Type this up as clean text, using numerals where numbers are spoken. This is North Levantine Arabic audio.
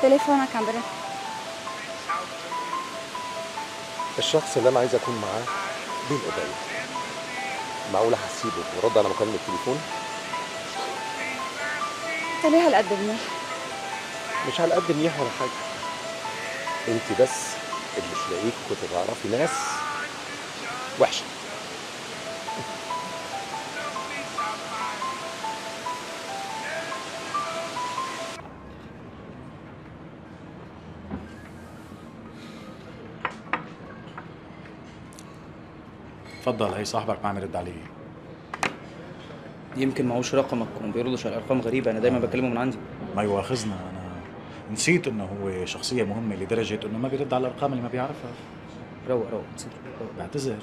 تليفونك عم برن. الشخص اللي انا عايز اكون معاه بين ايديا، معقولة هسيبه ورد على مكالمة التليفون؟ انت ليه هالقد منيح؟ مش على قد منيح ولا حاجة، انت بس اللي مش لاقيك كنت تعرفي ناس وحشة. تفضل، هي صاحبك ما عم يرد علي. يمكن معوش رقمك وما بيردش على ارقام غريبه، انا دايما بكلمه من عندي. ما يواخذنا، انا نسيت انه هو شخصيه مهمه لدرجه انه ما بيرد على الارقام اللي ما بيعرفها. روق روق، تصير روق. بعتذر.